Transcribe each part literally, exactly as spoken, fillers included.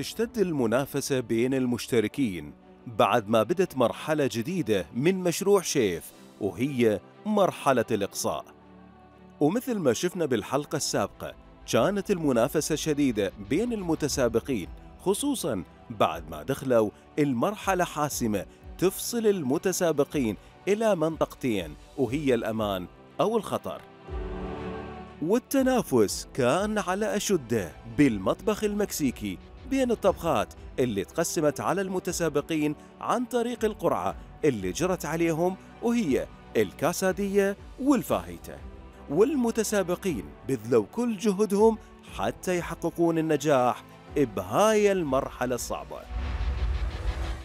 تشتد المنافسة بين المشتركين بعد ما بدت مرحلة جديدة من مشروع شيف، وهي مرحلة الإقصاء. ومثل ما شفنا بالحلقة السابقة، كانت المنافسة شديدة بين المتسابقين، خصوصاً بعد ما دخلوا المرحلة حاسمة تفصل المتسابقين إلى منطقتين، وهي الأمان أو الخطر. والتنافس كان على أشده بالمطبخ المكسيكي بين الطبخات اللي تقسمت على المتسابقين عن طريق القرعة اللي جرت عليهم، وهي الكاسادية والفاهيتا. والمتسابقين بذلوا كل جهدهم حتى يحققون النجاح بهاي المرحلة الصعبة.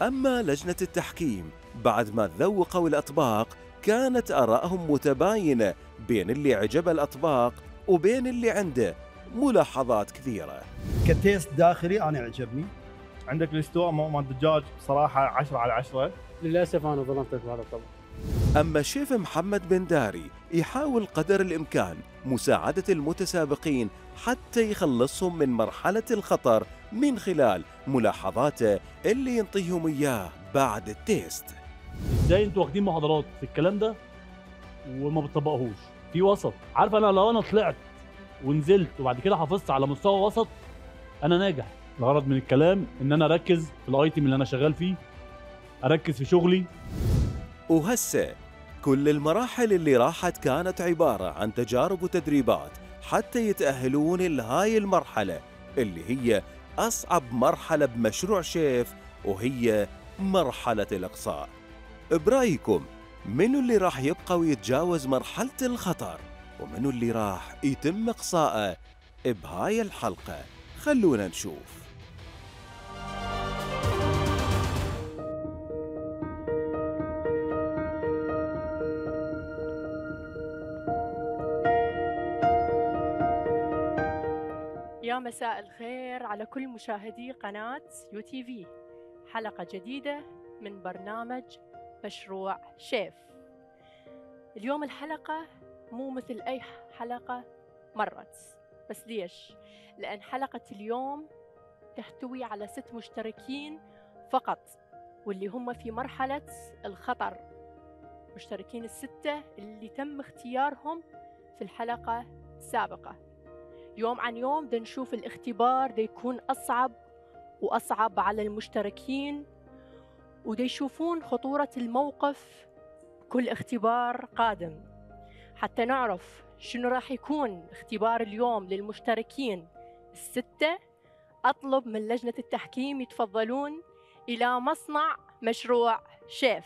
أما لجنة التحكيم بعد ما ذوقوا الأطباق كانت آرائهم متباينة بين اللي عجب الأطباق وبين اللي عنده ملاحظات كثيرة. كتيست داخلي أنا عجبني. عندك الاستواء مال الدجاج بصراحة عشرة على عشرة. للأسف أنا ظلمتك بهذا الطبق. أما الشيف محمد بن داري يحاول قدر الإمكان مساعدة المتسابقين حتى يخلصهم من مرحلة الخطر من خلال ملاحظاته اللي ينطيهم إياه بعد التيست. ازاي انتوا واخدين محاضرات في الكلام ده وما بتطبقوهوش؟ في وسط. عارف انا لو انا طلعت ونزلت وبعد كده حافظت على مستوى وسط انا ناجح. الغرض من الكلام ان انا اركز في الايتم اللي انا شغال فيه، اركز في شغلي. وهسه كل المراحل اللي راحت كانت عبارة عن تجارب وتدريبات حتى يتأهلون لهاي المرحلة اللي هي أصعب مرحلة بمشروع شيف، وهي مرحلة الإقصاء. برأيكم منو اللي راح يبقى ويتجاوز مرحلة الخطر، ومنو اللي راح يتم إقصاءه بهاي الحلقة؟ خلونا نشوف. يا مساء الخير على كل مشاهدي قناة يو تي في. حلقة جديدة من برنامج مشروع شيف. اليوم الحلقة مو مثل أي حلقة مرت، بس ليش؟ لأن حلقة اليوم تحتوي على ست مشتركين فقط، واللي هم في مرحلة الخطر. مشتركين الستة اللي تم اختيارهم في الحلقة السابقة. يوم عن يوم دا نشوف الاختبار دا يكون أصعب وأصعب على المشتركين، ودا يشوفون خطورة الموقف كل اختبار قادم. حتى نعرف شنو راح يكون اختبار اليوم للمشتركين الستة، أطلب من لجنة التحكيم يتفضلون إلى مصنع مشروع شيف.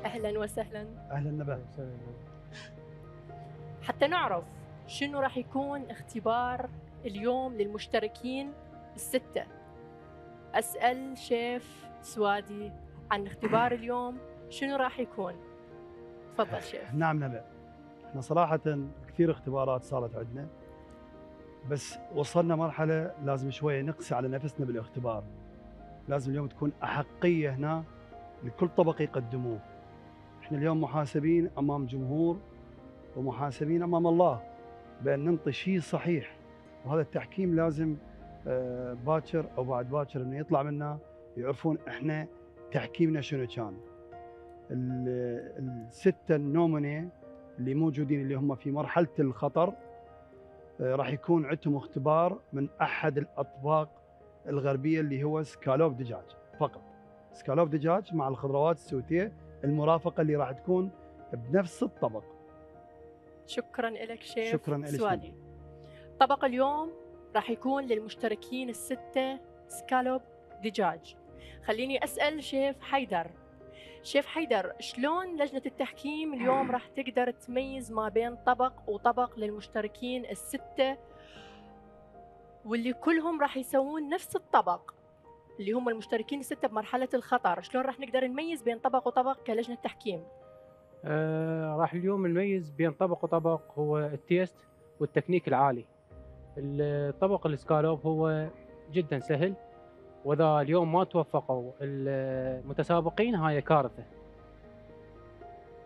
أهلاً وسهلاً. أهلاً نبات. حتى نعرف شنو راح يكون اختبار اليوم للمشتركين الستة، أسأل شيف سوادي عن اختبار اليوم شنو راح يكون. تفضل شيف. نعم نبات. احنا صراحة كثير اختبارات صارت عندنا، بس وصلنا مرحلة لازم شوية نقسي على نفسنا بالاختبار. لازم اليوم تكون أحقية هنا لكل طبق يقدموه. احنا اليوم محاسبين امام جمهور ومحاسبين امام الله بان ننطي شيء صحيح، وهذا التحكيم لازم باكر او بعد باكر انه يطلع منا يعرفون احنا تحكيمنا شنو كان. السته النوميني اللي موجودين اللي هم في مرحله الخطر راح يكون عندهم اختبار من احد الاطباق الغربيه اللي هو سكالوب دجاج فقط. سكالوب دجاج مع الخضروات السوتيه المرافقة اللي راح تكون بنفس الطبق. شكرا لك شيف. شكرا لك سوادي. طبق اليوم راح يكون للمشتركين الستة سكالوب دجاج. خليني أسأل شيف حيدر. شيف حيدر، شلون لجنة التحكيم اليوم راح تقدر تميز ما بين طبق وطبق للمشتركين الستة واللي كلهم راح يسوون نفس الطبق اللي هم المشتركين الستة بمرحلة الخطر؟ شلون راح نقدر نميز بين طبق وطبق كلجنة تحكيم؟ آه راح اليوم نميز بين طبق وطبق هو التيست والتكنيك العالي. الطبق الاسكالوب هو جدا سهل واذا اليوم ما توفقوا المتسابقين هاي كارثه.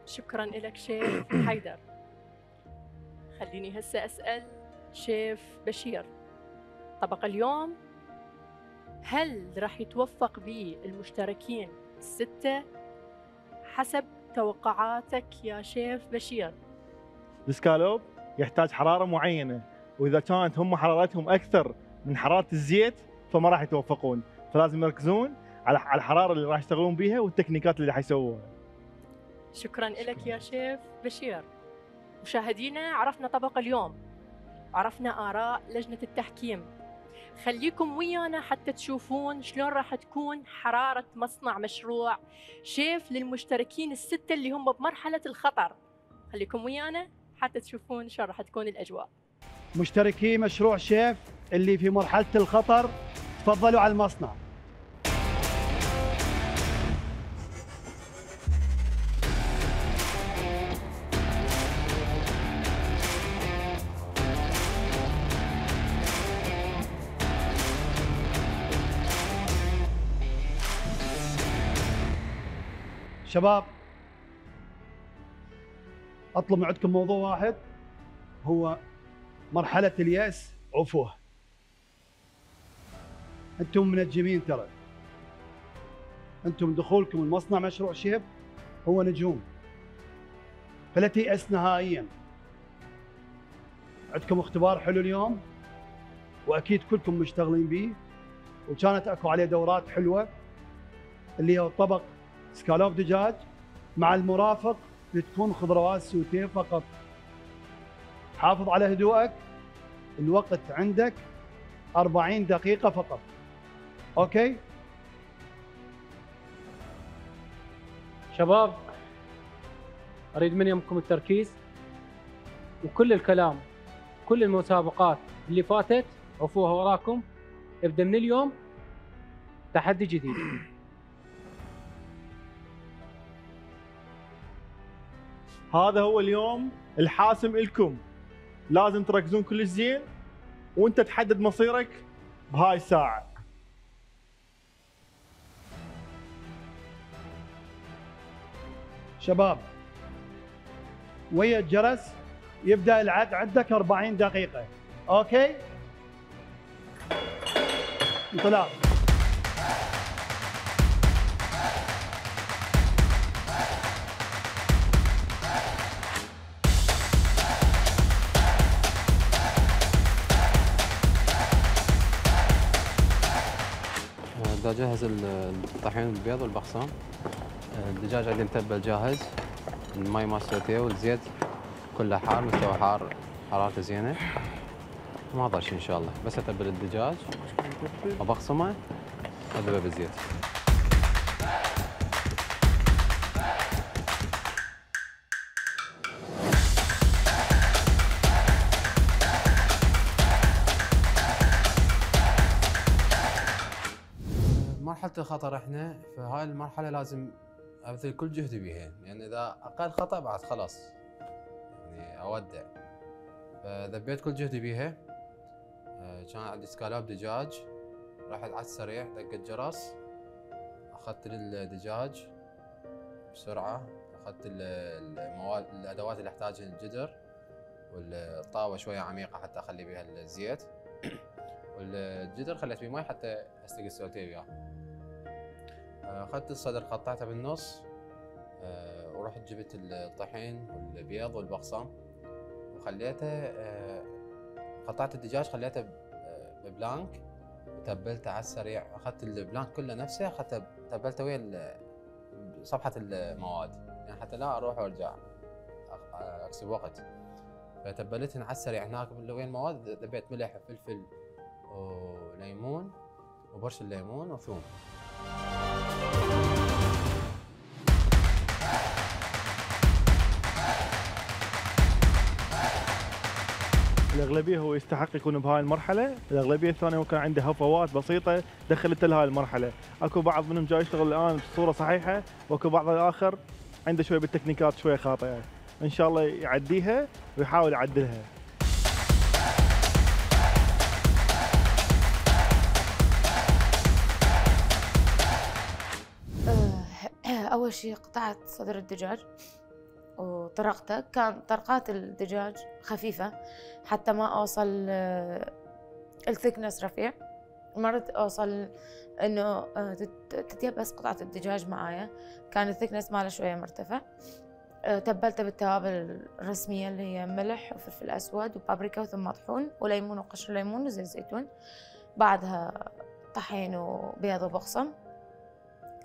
شكرا لك شيف حيدر. خليني هسه اسال شيف بشير، طبق اليوم هل راح يتوفق به المشتركين السته حسب توقعاتك يا شيف بشير؟ الاسكالوب يحتاج حراره معينه، واذا كانت هم حرارتهم اكثر من حراره الزيت فما راح يتوفقون، فلازم يركزون على على الحراره اللي راح يشتغلون بيها والتكنيكات اللي حيسووها. شكرا لك يا شيف بشير. مشاهدينا، عرفنا طبق اليوم، عرفنا آراء لجنة التحكيم. خليكم ويانا حتى تشوفون شلون راح تكون حرارة مصنع مشروع شيف للمشتركين الستة اللي هم بمرحلة الخطر. خليكم ويانا حتى تشوفون شلون راح تكون الأجواء. مشتركي مشروع شيف اللي في مرحلة الخطر تفضلوا على المصنع. شباب، اطلب من عندكم موضوع واحد، هو مرحلة اليأس عفوه. انتم منجمين ترى، انتم دخولكم المصنع مشروع شيف هو نجوم، فلا تيأس نهائيا. عندكم اختبار حلو اليوم واكيد كلكم مشتغلين به، وكانت اكو عليه دورات حلوه اللي هو طبق سكالوب دجاج مع المرافق بتكون خضروات سوتيه فقط. حافظ على هدوءك، الوقت عندك أربعين دقيقة فقط. اوكي شباب، اريد من يمكم التركيز، وكل الكلام كل المسابقات اللي فاتت عفوها وراكم. ابدا من اليوم تحدي جديد. هذا هو اليوم الحاسم لكم، لازم تركزون كلش زين وانت تحدد مصيرك بهاي الساعة. شباب، ويا الجرس يبدأ العد، عندك أربعين دقيقة. اوكي انطلاق. بدي اجهز الطحين البيض والبقسام. الدجاج عندي متبل جاهز، المي مال سوتيه والزيت كله حار، مستوى حار حرارته زينه، ما ضل شيء ان شاء الله. بس اتبل الدجاج وبقسمه واذبه بالزيت. مرحلة الخطر احنا في هاي المرحلة لازم ابذل كل جهدي بيها، لان يعني اذا اقل خطأ بعد خلاص يعني اودع. فذبيت كل جهدي بيها. كان عندي سكالوب دجاج، رحت على السريع دقت جرس، اخذت الدجاج بسرعة، اخذت المواد الادوات اللي احتاجها، الجدر والطاوة شوية عميقة حتى اخلي بيها الزيت، والجدر خليت فيه مي حتى استقي السوتيه وياه. اخذت الصدر قطعته بالنص، ورحت جبت الطحين والبيض والبقسام وخليته، قطعت الدجاج خليته ببلانك وتبلته على السريع. اخذت البلانك كله نفسه، اخذته تبلته ويا صفحة المواد يعني حتى لا اروح وارجع اكسب وقت. فتبلتهن على السريع هناك ويا المواد. ذبيت ملح وفلفل وليمون وبرش الليمون وثوم. الأغلبية هو يستحق يكون بهاي المرحلة، الأغلبية الثانية ممكن عنده هفوات بسيطة دخلته لهاي المرحلة. اكو بعض منهم جاي يشتغل الآن بصورة صحيحة، واكو بعض الآخر عنده شوية بالتكنيكات شوية خاطئة. إن شاء الله يعديها ويحاول يعدلها. أول شي قطعت صدر الدجاج وطرقته. كان طرقات الدجاج خفيفة حتى ما أوصل الثكنس رفيع، مرت أوصل إنه تتيبس قطعة الدجاج معايا، كان الثكنس ماله شوية مرتفع. تبلته بالتوابل الرسمية اللي هي ملح وفلفل أسود وبابريكا وثوم مطحون وليمون وقشر ليمون وزيت زيتون، بعدها طحين وبيض وبقسم،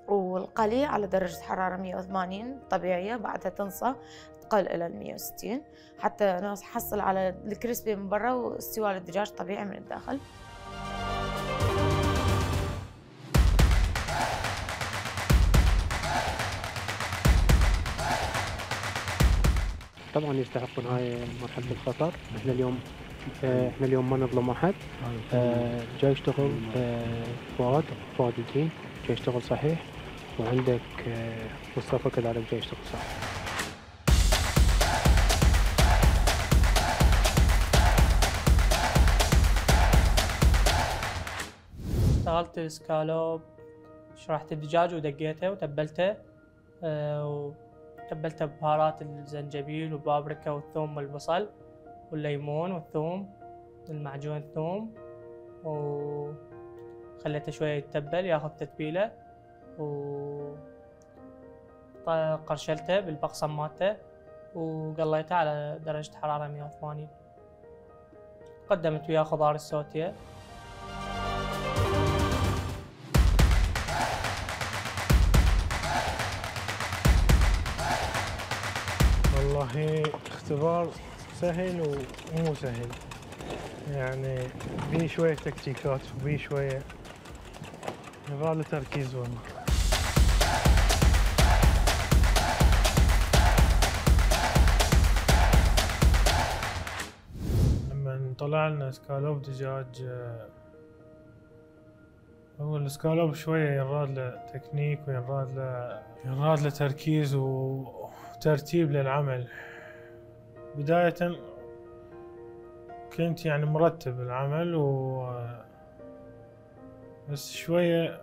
والقلي على درجة حرارة مية وثمانين طبيعية، بعدها تنصى تقل إلى المية وستين حتى نحصل على الكريسبي من برا واستواء الدجاج طبيعي من الداخل. طبعا يستحقون هاي مرحلة الخطر. احنا اليوم احنا اليوم ما نظلم احد. اه جاي يشتغل اه فؤاد فؤاد الدين جاي يشتغل صحيح، وعندك اه مصطفى كذلك جاي يشتغل صحيح. اشتغلت سكالوب، شرحت الدجاج ودقيته وتبلته اه تبلته ببهارات الزنجبيل والبابريكا والثوم والبصل والليمون والثوم المعجون الثوم، وخليته شوية يتبل ياخذ تتبيلة، وقرشلته بالبقسم مالته وقليته على درجة حرارة مية وثمانين. قدمت وياه خضار السوتيه. والله اختبار سهل ومو سهل، يعني بيه شوية تكتيكات وبيه شوية يبغى له تركيز والله. لما طلع لنا سكالوب دجاج، هو السكالوب شوية ينراد له تكنيك وينراد له ينراد له تركيز وترتيب للعمل. بداية كنت يعني مرتب العمل و بس شوية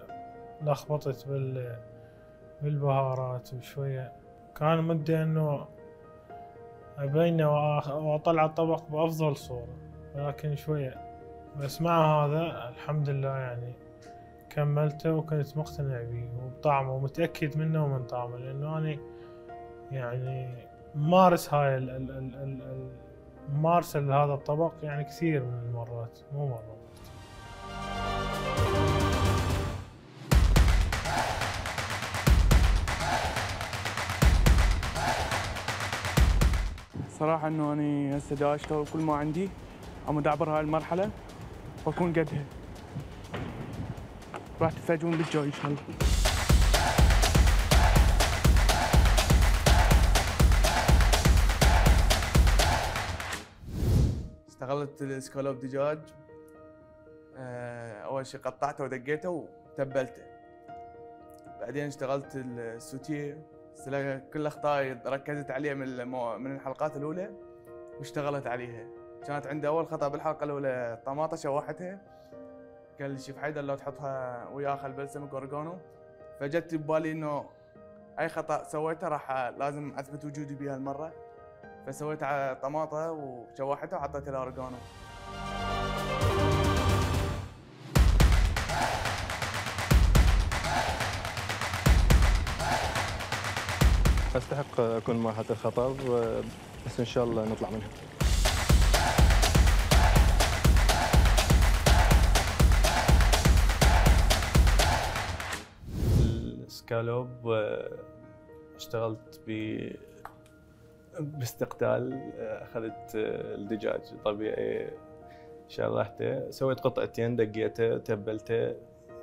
لخبطت بال بالبهارات وشوية كان مدي انه ابينه واطلع الطبق بافضل صورة، ولكن شوية بس مع هذا الحمد لله يعني كملته وكنت مقتنع به وبطعمه ومتأكد منه ومن طعمه، لانه انا يعني مارس هاي ال ال ال ال ممارسة لهذا الطبق يعني كثير من المرات مو مرة. صراحة انه اني هسه دا اشتغل كل ما عندي، عم ادعبر هاي المرحلة واكون قدها. راح تفاجئون بالجاي ان شاء الله. اشتغلت السكالوب دجاج، اول شيء قطعته ودقيته وتبلته، بعدين اشتغلت السوتيه، كل اخطائي ركزت عليها من المو... من الحلقات الاولى واشتغلت عليها. كانت عندي اول خطا بالحلقه الاولى طماطه شوحتها، قال لي شيف حيدر لو تحطها ويا خل بلسمك اوريجانو، فجت ببالي انه اي خطا سويته راح لازم اثبت وجودي بها المره، فسويت على طماطه وشوحتها وحطيت لها اوريجانو. استحق اكون مرحلة الخطر، بس ان شاء الله نطلع منها. السكالوب اشتغلت ب باستقتال، اخذت الدجاج طبيعي شرحته، سويت قطعتين دقيته تبلته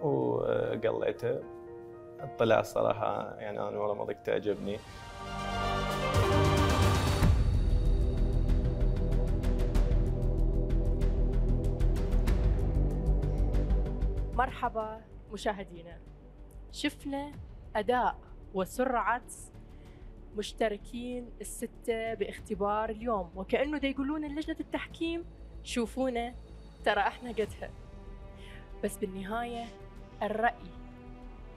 وقليته، طلع الصراحة يعني انا والله ما ضقته عجبني. مرحبا مشاهدينا، شفنا أداء وسرعة مشتركين الستة باختبار اليوم، وكأنه دا يقولون لجنة التحكيم شوفونا ترى احنا قدها، بس بالنهاية الرأي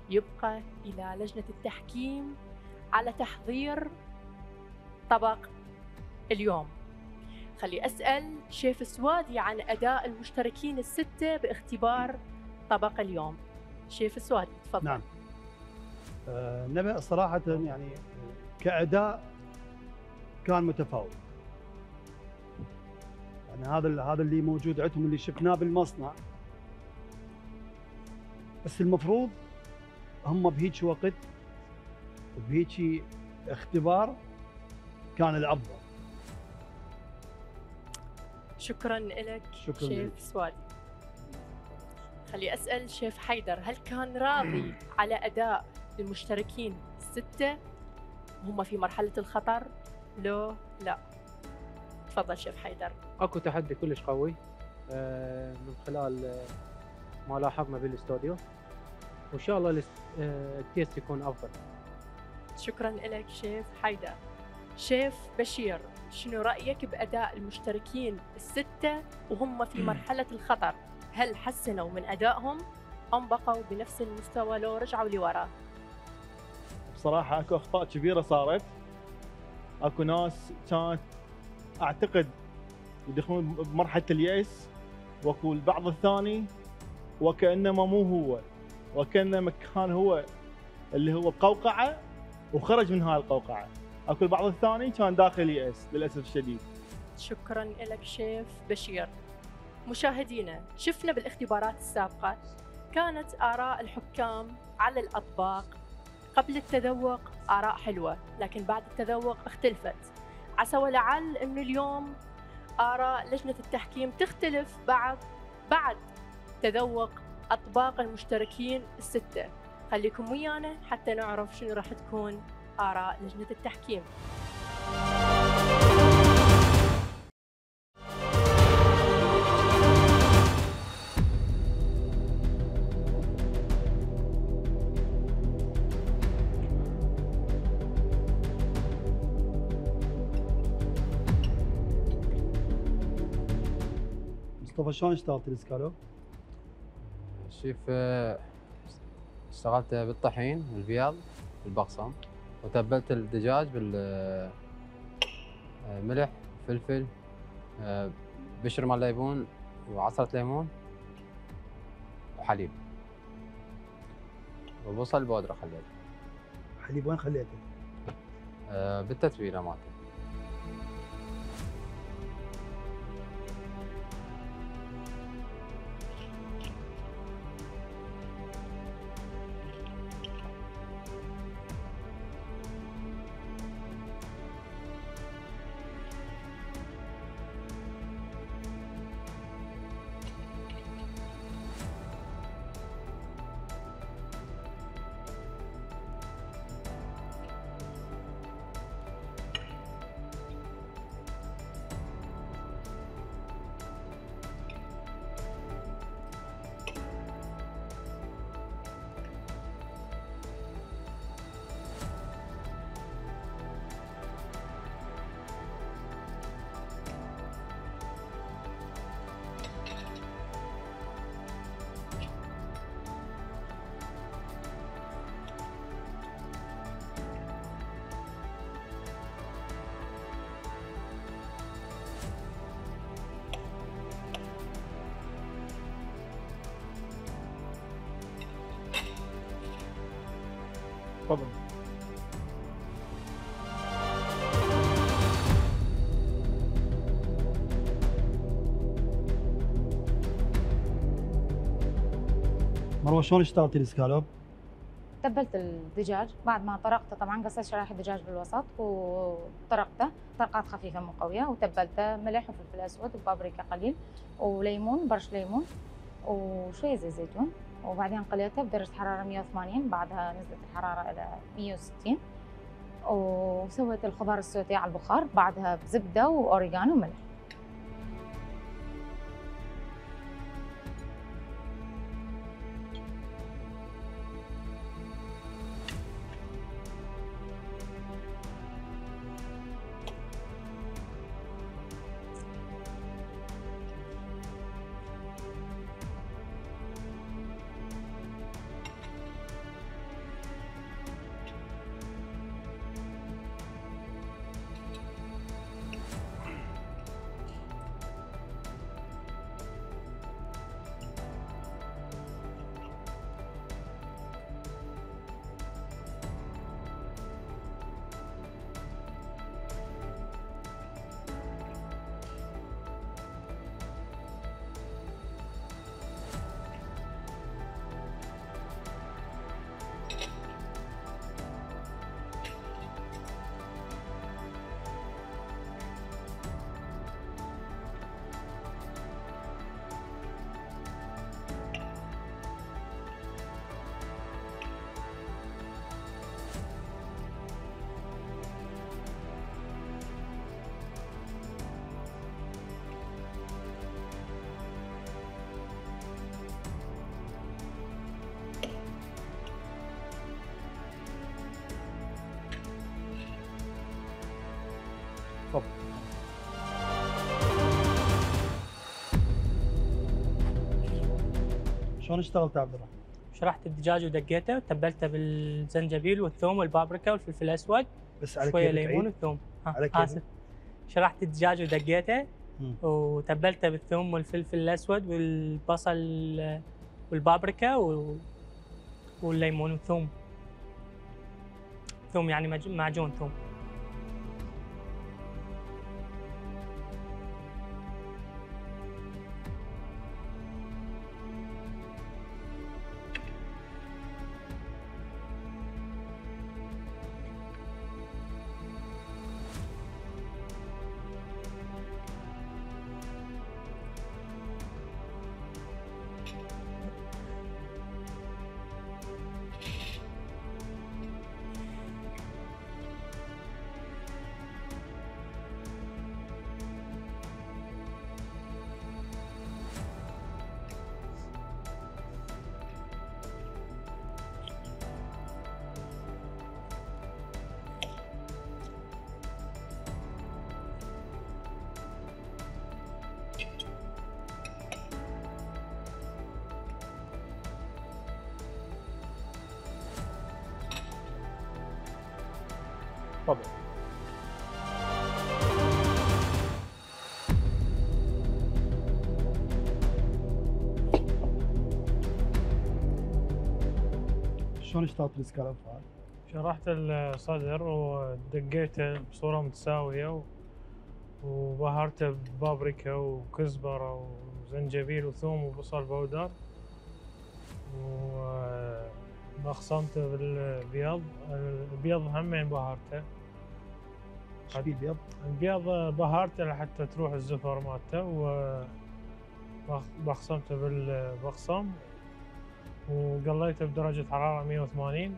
يبقى إلى لجنة التحكيم على تحضير طبق اليوم. خلي أسأل شيف سوادي عن أداء المشتركين الستة باختبار طبق اليوم. شيف سوادي تفضل. نعم. آه نبأ صراحة يعني كأداء كان متفاوت. يعني هذا هذا اللي موجود عندهم اللي شفناه بالمصنع. بس المفروض هم بهيك وقت وبهيك اختبار كان الأفضل. شكرا لك شكراً شيف لك. سوادي. خلي أسأل شيف حيدر، هل كان راضي على أداء المشتركين الستة وهم في مرحلة الخطر؟ لو لا. تفضل شيف حيدر. اكو تحدي كلش قوي آه، من خلال آه، ما لاحظنا بالاستوديو، وان شاء الله الاست- آه، التيست يكون افضل. شكرا لك شيف حيدر. شيف بشير، شنو رأيك بأداء المشتركين الستة وهم في مرحلة الخطر؟ هل حسنوا من أدائهم أم بقوا بنفس المستوى لو رجعوا لورا؟ بصراحه اكو اخطاء كبيره صارت. اكو ناس كانت اعتقد يدخلون بمرحله اليأس، واكو البعض الثاني وكانما مو هو، وكانما كان هو اللي هو بقوقعه وخرج من هاي القوقعه. اكو البعض الثاني كان داخل يأس للاسف الشديد. شكرا لك شيف بشير. مشاهدينا، شفنا بالاختبارات السابقة كانت آراء الحكام على الأطباق قبل التذوق آراء حلوة، لكن بعد التذوق اختلفت. عسى ولعل أنه اليوم آراء لجنة التحكيم تختلف بعد بعد تذوق أطباق المشتركين الستة. خليكم ويانا حتى نعرف شنو راح تكون آراء لجنة التحكيم. مصطفى شلون اشتغلت الاسكالوب؟ شيف آه، اشتغلت بالطحين والبياض والبقسم، وتبلت الدجاج بالملح فلفل آه، بشر مال ليمون وعصرة ليمون وحليب وبصل بودرة خليته. حليب وين خليته؟ آه، بالتتبيلة مالته. تفضل. مروه شلون اشتغلتي الاسكالوب؟ تبلت الدجاج بعد ما طرقته، طبعا قصيت شرايح الدجاج بالوسط وطرقته طرقات خفيفه مو قويه، وتبلته ملح وفلفل اسود وبابريكا قليل وليمون، برش ليمون وشويه زيت زيتون، وبعدين قليته بدرجه حراره مية وثمانين، بعدها نزلت الحراره الى مية وستين، وسويت الخضار السوتيه على البخار، بعدها بزبده واوريجانو وملح. تفضل. شلون اشتغلت يا عبد الرحمن؟ شرحت الدجاج ودقيته وتبلته بالزنجبيل والثوم والبابريكا والفلفل الاسود، بس على شويه كيفك ليمون عيد. وثوم. على كيفك. اسف. شرحت الدجاج ودقيته مم. وتبلته بالثوم والفلفل الاسود والبصل والبابريكا و... والليمون والثوم. ثوم يعني مج- معجون ثوم. تفضل. شلون اشتغلت الاسكالوب هذا؟ شرحت الصدر ودقيته بصورة متساوية و- وبهرته ببابريكا وكزبرة وزنجبيل وثوم وبصل بودر، وبخصمته بالبيض. البيض همين بهرته. ايش بيه البيض؟ البيض بهرته لحتى تروح الزفر مالته، وبخصمته بالبقصم وقليته بدرجة حرارة مية وثمانين.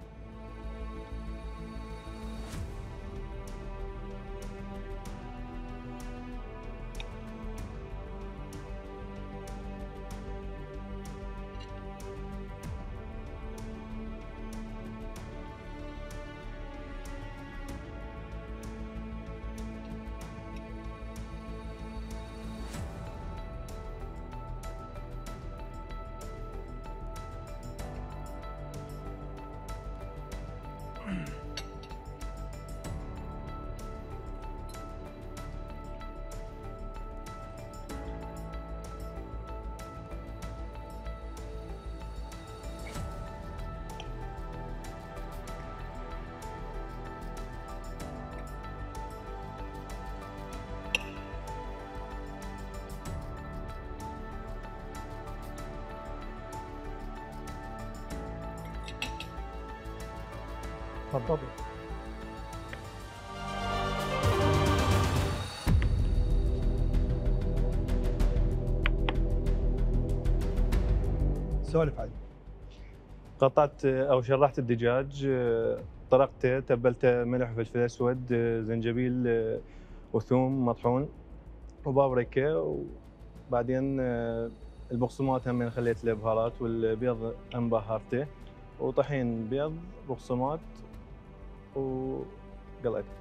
تفضل. سولف عاد. قطعت او شرحت الدجاج، طرقته، تبلته ملح وفلفل اسود، زنجبيل وثوم مطحون وبابريكا، وبعدين البقسماط هم خليت له بهارات، والبيض هم بهرته، وطحين بيض بقسماط وقليته.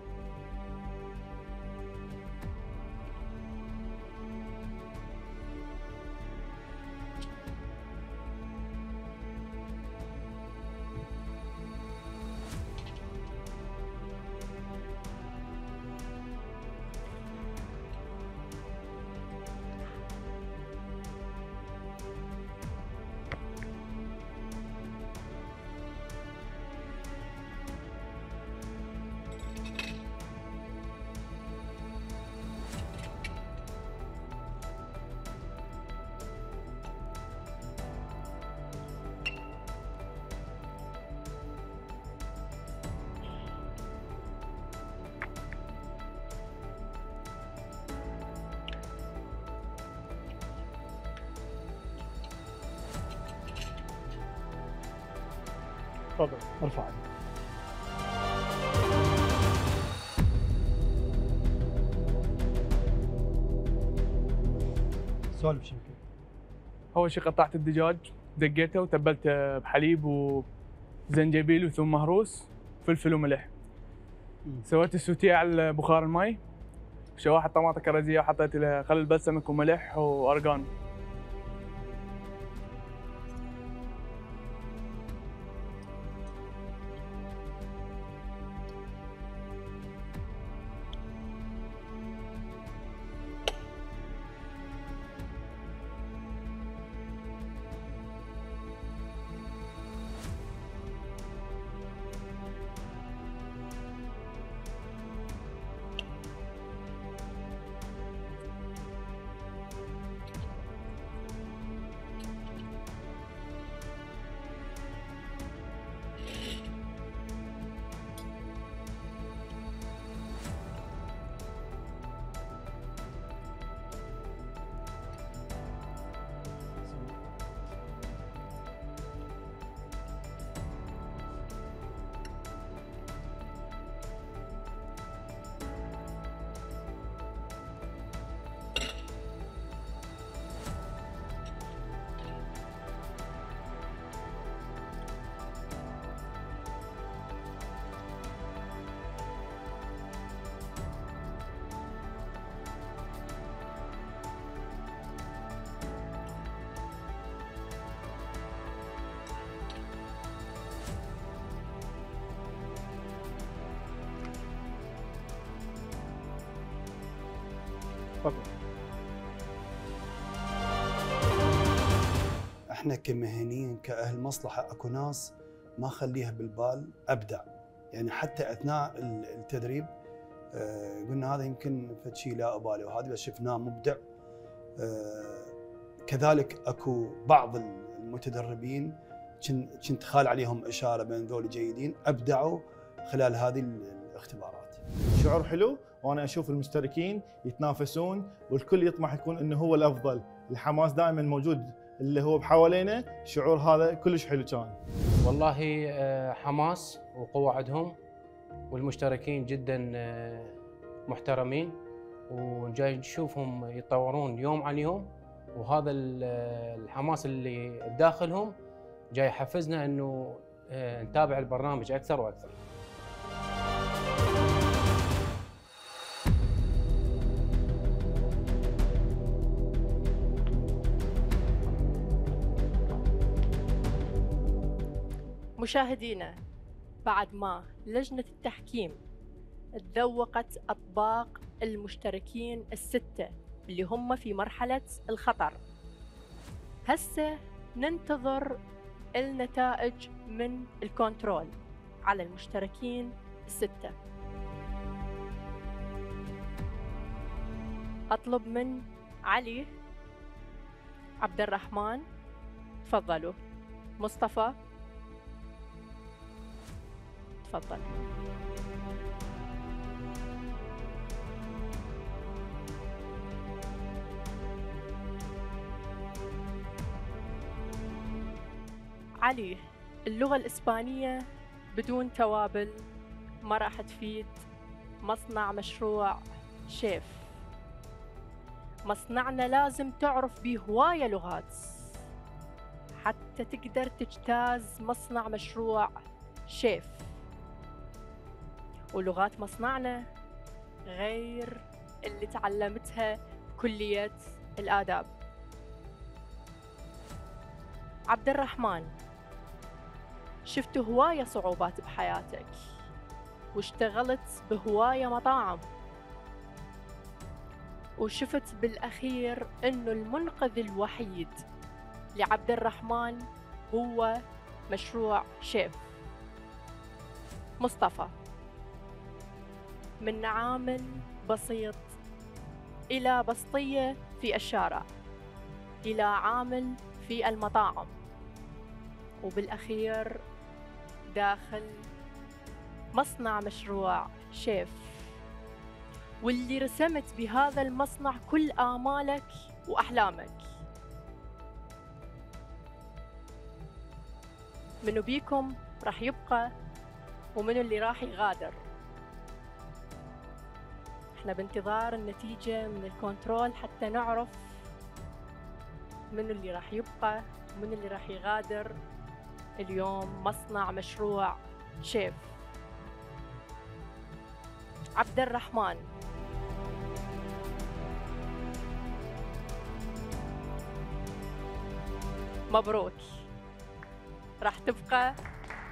تفضل ارفع عاد. سولف شنو. اول شيء قطعت الدجاج، دقيته وتبلته بحليب وزنجبيل وثوم مهروس، فلفل وملح. سويت السوتيه على بخار الماء، شوحت طماطة كرزية وحطيت لها خل بلسمك وملح وأرجان. احنا كمهنيين كاهل مصلحه اكو ناس ما خليها بالبال ابدع، يعني حتى اثناء التدريب آه قلنا هذا يمكن فد شيء لا ابالي، وهذا بس شفناه مبدع. آه كذلك اكو بعض المتدربين كنت خال عليهم اشاره بين ذول جيدين ابدعوا خلال هذه الاختبارات. شعور حلو، وانا اشوف المشتركين يتنافسون والكل يطمح يكون انه هو الافضل، الحماس دائما موجود اللي هو بحوالينا، الشعور هذا كلش حلو كان. والله حماس وقوة عندهم، والمشتركين جدا محترمين، وجاي نشوفهم يتطورون يوم عن يوم، وهذا الحماس اللي بداخلهم جاي يحفزنا انه نتابع البرنامج اكثر واكثر. مشاهدينا، بعد ما لجنة التحكيم تذوقت أطباق المشتركين الستة اللي هم في مرحلة الخطر، هسه ننتظر النتائج من الكنترول على المشتركين الستة. أطلب من علي، عبد الرحمن، تفضلوا. مصطفى تفضل. علي، اللغة الإسبانية بدون توابل ما راح تفيد مصنع مشروع شيف. مصنعنا لازم تعرف به هواية لغات حتى تقدر تجتاز مصنع مشروع شيف. ولغات مصنعنا غير اللي تعلمتها بكلية الآداب. عبد الرحمن، شفت هواية صعوبات بحياتك واشتغلت بهواية مطاعم، وشفت بالأخير إنه المنقذ الوحيد لعبد الرحمن هو مشروع شيف. مصطفى، من عامل بسيط إلى بسطية في الشارع إلى عامل في المطاعم، وبالأخير داخل مصنع مشروع شيف، واللي رسمت بهذا المصنع كل آمالك وأحلامك. منو بيكم راح يبقى ومنو اللي راح يغادر؟ احنا بانتظار النتيجة من الكنترول حتى نعرف منو اللي راح يبقى ومنو اللي راح يغادر اليوم مصنع مشروع شيف. عبد الرحمن، مبروك، راح تبقى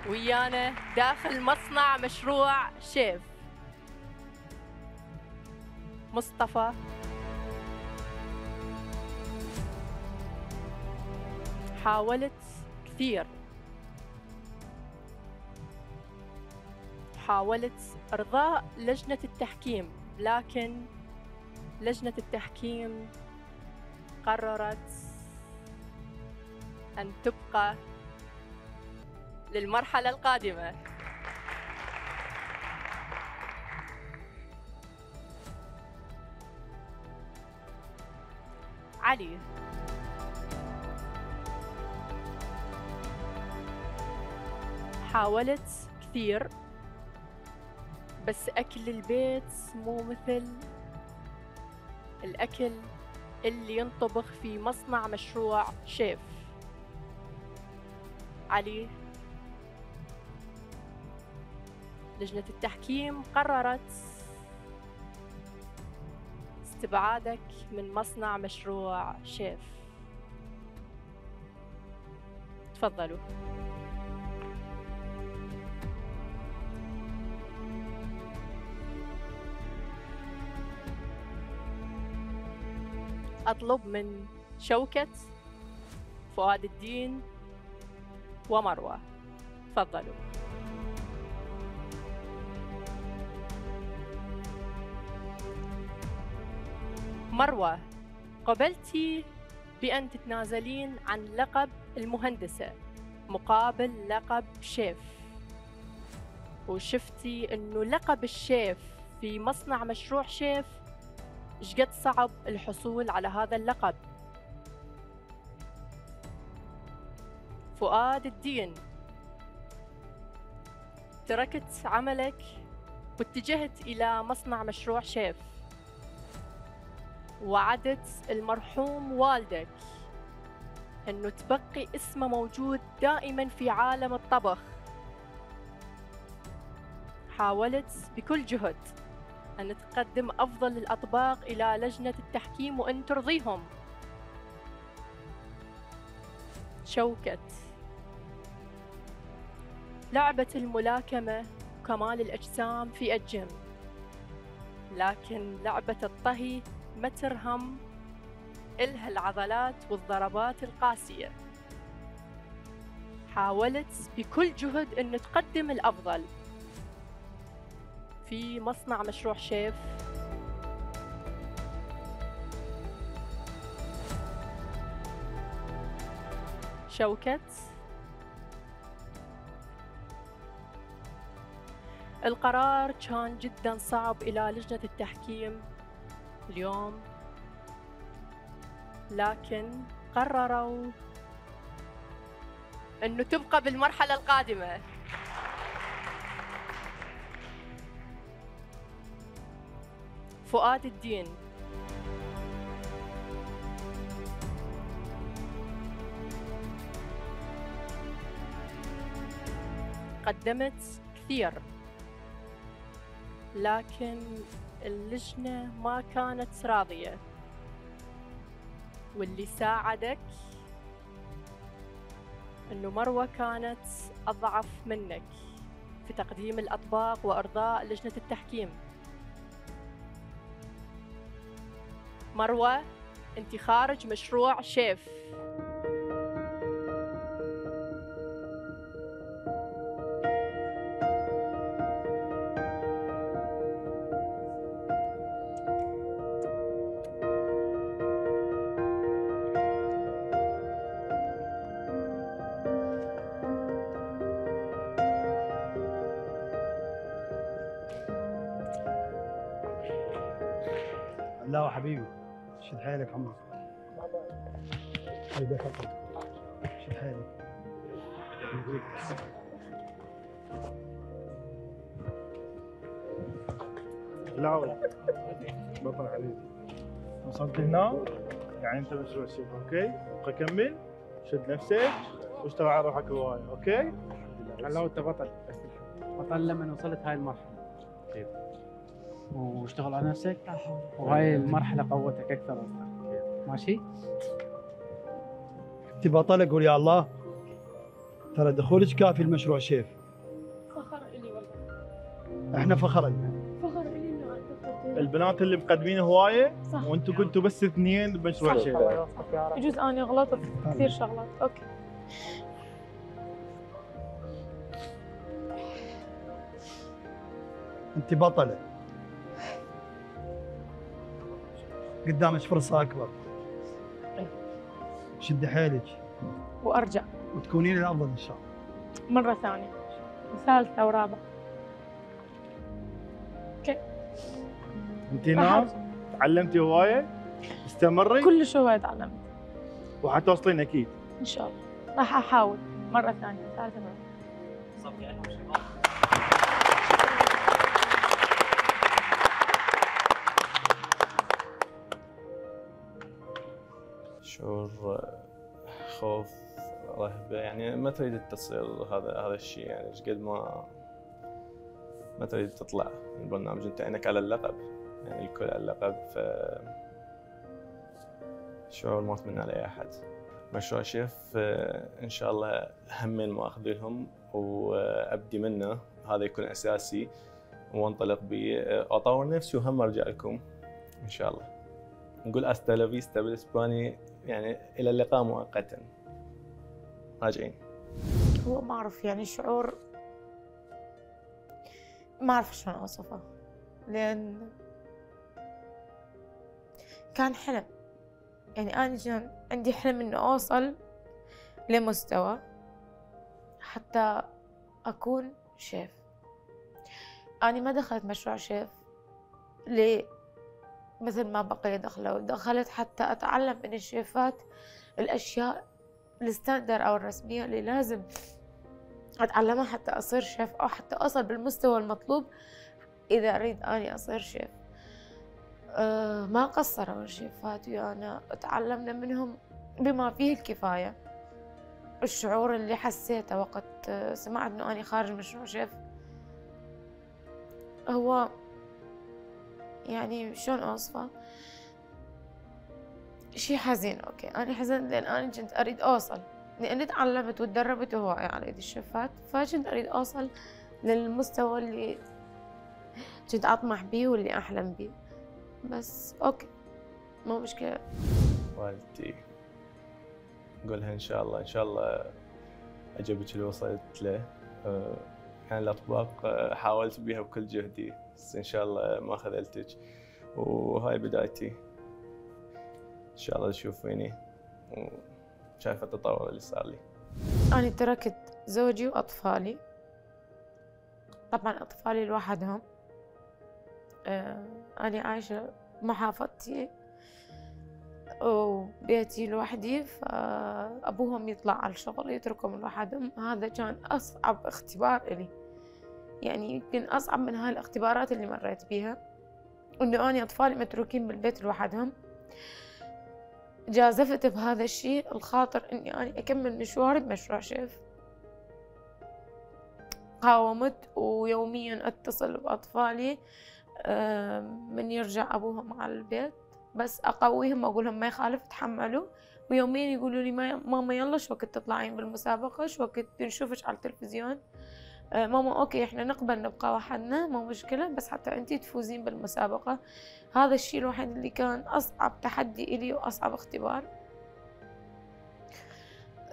ويانا داخل مصنع مشروع شيف. مصطفى حاولت كثير، حاولت إرضاء لجنة التحكيم، لكن لجنة التحكيم قررت أن تبقى للمرحلة القادمة. علي، حاولت كثير بس أكل البيت مو مثل الأكل اللي ينطبخ في مصنع مشروع شيف. علي، لجنة التحكيم قررت استبعادك من مصنع مشروع شيف. تفضلوا. أطلب من شوكت، فؤاد الدين ومروة، تفضلوا. مروة، قبلتي بأن تتنازلين عن لقب المهندسة مقابل لقب شيف، وشفتي أنه لقب الشيف في مصنع مشروع شيف شقد صعب الحصول على هذا اللقب. فؤاد الدين، تركت عملك واتجهت إلى مصنع مشروع شيف، وعدت المرحوم والدك أنه تبقي اسمه موجود دائما في عالم الطبخ. حاولت بكل جهد أن تقدم أفضل الأطباق إلى لجنة التحكيم وأن ترضيهم. شوكت، لعبة الملاكمة وكمال الأجسام في الجيم، لكن لعبة الطهي ما ترهم، إلها العضلات والضربات القاسية. حاولت بكل جهد أن تقدم الأفضل في مصنع مشروع شيف. شوكت، القرار كان جدا صعب إلى لجنة التحكيم اليوم، لكن قرروا أنه تبقى بالمرحلة القادمة. فؤاد الدين، قدمت كثير، لكن اللجنة ما كانت راضية، واللي ساعدك إنه مروة كانت أضعف منك في تقديم الأطباق وإرضاء لجنة التحكيم. مروة، أنت خارج مشروع شيف. لا حبيبي، شد حيلك عمرك. شد حيلك. لا بطل حبيبي، وصلت هنا يعني انت مشروع شيف. اوكي، ابقى كمل، شد نفسك واشتغل على روحك هوايه. اوكي، هلا انت بطل، بطل لما وصلت هاي المرحله. اكيد، واشتغل على نفسك، وهاي المرحله قوتك اكثر واكثر. ماشي؟ انت بطله قول يا الله. ترى دخولك كافي المشروع شيف. فخر الي والله. احنا فخر لنا. فخر الي انه أنت البنات اللي مقدمين هوايه صح. وانتم كنتوا بس اثنين بمشروع شيف. يجوز اني غلطت كثير شغلات. اوكي. انت بطله. قدامك فرصه اكبر. شدي حيلك وارجع وتكونين الافضل ان شاء الله. مره ثانيه وثالثه ورابعه. اوكي. انت ناس تعلمتي هوايه، استمري كلش هوايه تعلمت وحتوصلين اكيد ان شاء الله. راح احاول مره ثانيه ثالثه مره. شعور خوف رهبة، يعني ما تريد تصير هذا هذا الشيء، يعني ايش قد ما ما تريد تطلع من البرنامج. انت عينك على اللقب، يعني الكل على اللقب، ف شعور ما اتمنى لاي احد. مشروع شيف ان شاء الله همين ما اخذ لهم وابدي منه، هذا يكون اساسي وانطلق به، اطور نفسي وهم ارجع لكم ان شاء الله. نقول استا لا فيستا بالاسباني، يعني الى اللقاء مؤقتا، راجعين. هو ما اعرف يعني شعور ما اعرف شلون اوصفه، لان كان حلم. يعني انا كان عندي حلم اني اوصل لمستوى حتى اكون شيف. انا ما دخلت مشروع شيف ليه مثل ما بقية دخلوا، دخلت حتى أتعلم من الشيفات الأشياء الستاندر أو الرسمية اللي لازم أتعلمها حتى أصير شيف، أو حتى أوصل بالمستوى المطلوب إذا أريد أني أصير شيف. أه ما قصروا الشيفات ويانا، تعلمنا منهم بما فيه الكفاية. الشعور اللي حسيته وقت سمعت إنه أنا خارج مشروع شيف هو يعني شلون اوصفه، شي حزين. اوكي انا حزنت لان انا كنت اريد اوصل، لاني تعلمت وتدربت هواية على يد الشيفات، فكنت اريد اوصل للمستوى اللي كنت اطمح بيه واللي احلم بيه. بس اوكي مو مشكلة. والدتي نقولها ان شاء الله ان شاء الله اجابك اللي وصلت له. يعني الاطباق حاولت بيها بكل جهدي، بس ان شاء الله ما خذلتك، وهاي بدايتي. ان شاء الله تشوفيني وشايفه التطور اللي صار لي. انا تركت زوجي واطفالي، طبعا اطفالي لوحدهم. آه انا عايشه بمحافظتي وبيتي لوحدي، فابوهم يطلع على الشغل يتركهم لوحدهم. هذا كان اصعب اختبار الي، يعني يمكن اصعب من هاي الاختبارات اللي مريت بيها، انه اني اطفالي متروكين بالبيت لوحدهم. جازفت بهذا الشيء الخاطر اني اني اكمل مشواري بمشروع شيف. قاومت ويوميا اتصل باطفالي من يرجع ابوهم على البيت، بس اقويهم واقول لهم ما يخالف تحملوا، ويوميا يقولوا لي ماما يلا شو وقت تطلعين بالمسابقه، شو وقت نشوفك على التلفزيون. آه ماما اوكي احنا نقبل نبقى وحدنا مو مشكله، بس حتى انتي تفوزين بالمسابقه. هذا الشيء الوحيد اللي كان اصعب تحدي الي واصعب اختبار.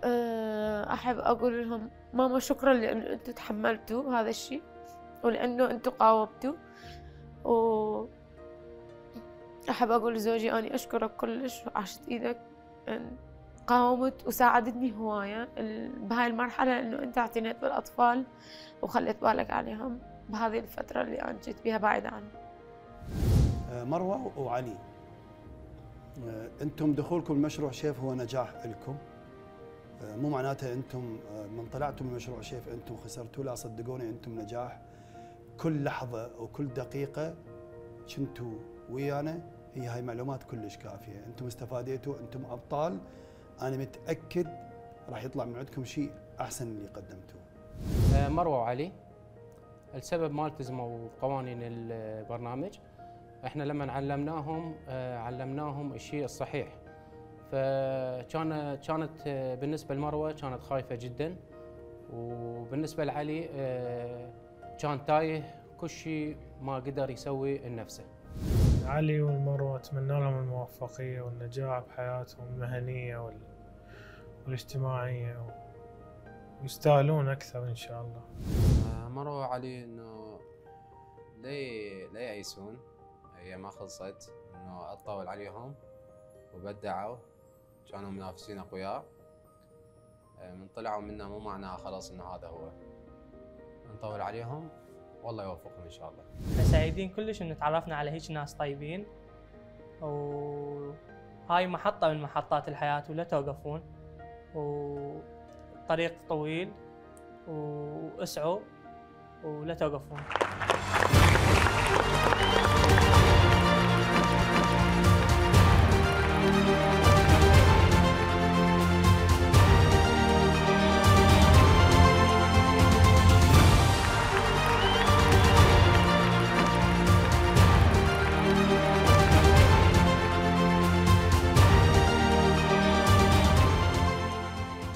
آه احب اقول لهم ماما شكرا لانه انتوا تحملتوا هذا الشيء، ولانه انتوا قاومتوا. و احب اقول لزوجي اني اشكرك كلش، عشت ايدك قاومت وساعدتني هوايه بهاي المرحله، انه انت اعتنيت بالاطفال وخليت بالك عليهم بهذه الفتره اللي انا جيت بها بعيده عنهم. مروه وعلي، انتم دخولكم المشروع شيف هو نجاح لكم، مو معناته انتم من طلعتم من مشروع شيف انتم خسرتوا، لا صدقوني انتم نجاح. كل لحظه وكل دقيقه كنتوا ويانا هي هاي معلومات كلش كافيه، انتم استفاديتوا، انتم ابطال. انا متاكد راح يطلع من عندكم شيء احسن من اللي قدمتوه. مروه وعلي، السبب ما التزموا بقوانين البرنامج. احنا لما علمناهم علمناهم الشيء الصحيح، فكان كانت بالنسبه لمروه كانت خايفه جدا، وبالنسبه لعلي كان تايه كل شيء ما قدر يسوي لنفسه. علي والمروه اتمنى لهم الموفقيه والنجاح بحياتهم المهنيه وال... والاجتماعيه، ويستاهلون اكثر ان شاء الله. مروه وعلي انه لا لا يأيسون، هي ما خلصت، انه اطول عليهم وبدعوا، كانوا منافسين اقوياء، من طلعوا منا مو معناها خلاص انه هذا هو، نطول عليهم والله يوفقهم ان شاء الله. احنا سعيدين كلش ان تعرفنا على هيك ناس طيبين، وهاي محطة من محطات الحياة ولا توقفون، وطريق طويل واسعوا ولا توقفون.